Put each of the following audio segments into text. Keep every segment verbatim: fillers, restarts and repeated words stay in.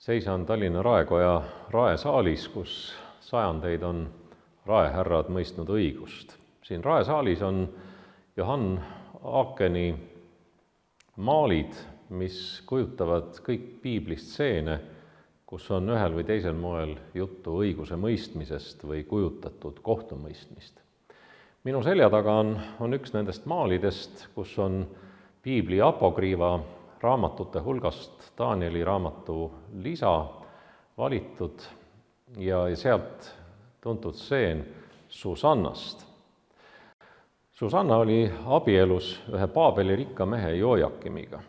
Seisan Tallinna Raekoja raesaalis, kus sajandeid on raehärrad mõistnud õigust. Siin raesaalis on Johann Aakeni maalid, mis kujutavad kõik piiblist stseene, kus on ühel või teisel moel juttu õiguse mõistmisest või kujutatud kohtumõistmist. Minu selja taga on, on üks nendest maalidest, kus on piibli apokriiva raamatute hulgast Danieli raamatu lisa valitud ja sealt tuntud stseen Susannast. Susanna oli abielus ühe Paabeli rikka mehe Jojakimiga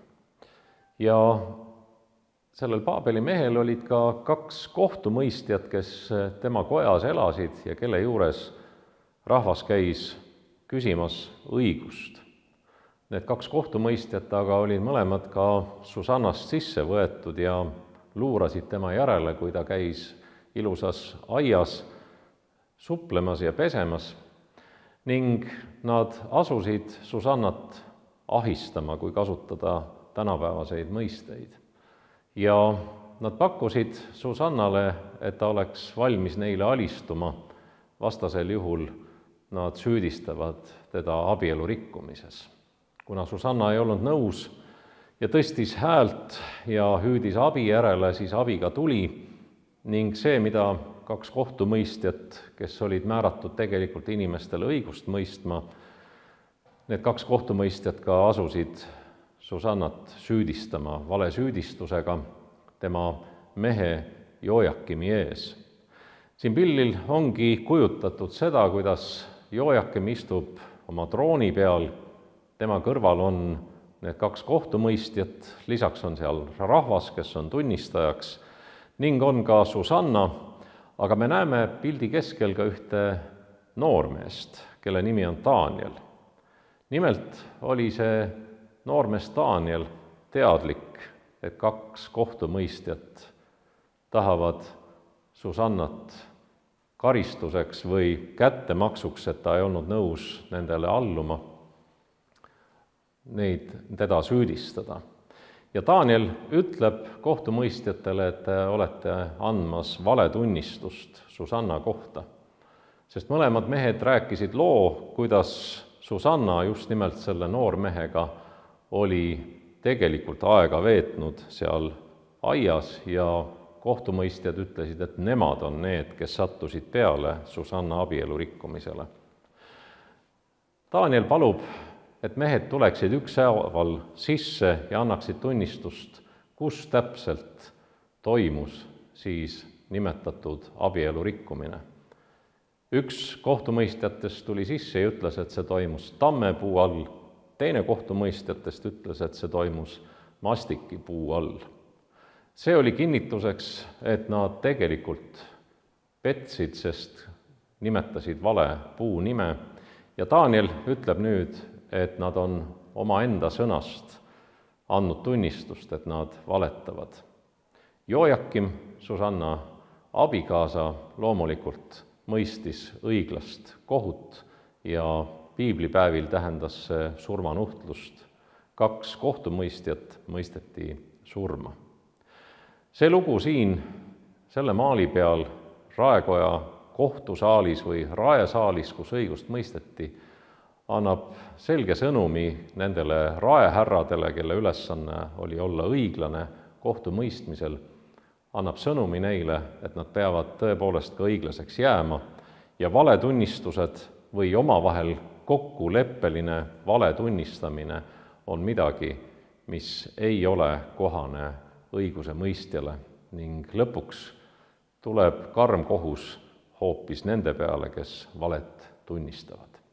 ja sellel Paabeli mehel olid ka kaks kohtumõistjat, kes tema kojas elasid ja kelle juures rahvas käis küsimas õigust. Need kaks kohtumõistjat aga olid mõlemad ka Susannast sisse võetud ja luurasid tema järele, kui ta käis ilusas aias suplemas ja pesemas ning nad asusid Susannat ahistama, kui kasutada tänapäevaseid mõisteid. Ja nad pakkusid Susannale, et ta oleks valmis neile alistuma, vastasel juhul nad süüdistavad teda abielu rikkumises. Kuna Susanna ei olnud nõus ja tõstis häält ja hüüdis abi järele, siis abi ka tuli ning see, mida kaks kohtumõistjat, kes olid määratud tegelikult inimestele õigust mõistma, need kaks kohtumõistjat ka asusid Susannat süüdistama valesüüdistusega tema mehe Jojakimi ees. Siin pildil ongi kujutatud seda, kuidas Jojakim istub oma trooni peal, tema kõrval on need kaks kohtumõistjat, lisaks on seal rahvas, kes on tunnistajaks, ning on ka Susanna, aga me näeme pildi keskel ka ühte noormeest, kelle nimi on Daniel. Nimelt oli see noormees Daniel teadlik, et kaks kohtumõistjat tahavad Susannat karistuseks või kättemaksuks, et ta ei olnud nõus nendele alluma, neid, teda süüdistada. Ja Daniel ütleb kohtumõistjatele, et te olete andmas valetunnistust Susanna kohta, sest mõlemad mehed rääkisid loo, kuidas Susanna just nimelt selle noormehega oli tegelikult aega veetnud seal aias ja kohtumõistjad ütlesid, et nemad on need, kes sattusid peale Susanna abielu rikkumisele. Daniel palub, et mehed tuleksid ükshaaval sisse ja annaksid tunnistust, kus täpselt toimus siis nimetatud abielu rikkumine. Üks kohtumõistjatest tuli sisse ja ütles, et see toimus tammepuu all, teine kohtumõistjatest ütles, et see toimus mastikipuu all. See oli kinnituseks, et nad tegelikult petsid, sest nimetasid vale puu nime ja Daniel ütleb nüüd, et nad on omaenda sõnast andnud tunnistust, et nad valetavad. Jojakim, Susanna abikaasa, loomulikult mõistis õiglast kohut ja piiblipäevil tähendas see surmanuhtlust. Kaks kohtumõistjat mõisteti surma. See lugu siin, selle maali peal, Raekoja kohtusaalis või raesaalis, kus õigust mõisteti, annab selge sõnumi nendele raehärradele, kelle ülesanne oli olla õiglane kohtumõistmisel, annab sõnumi neile, et nad peavad tõepoolest ka õiglaseks jääma ja valetunnistused või omavahel kokkuleppeline valetunnistamine on midagi, mis ei ole kohane õiguse mõistjale ning lõpuks tuleb karm kohus hoopis nende peale, kes valet tunnistavad.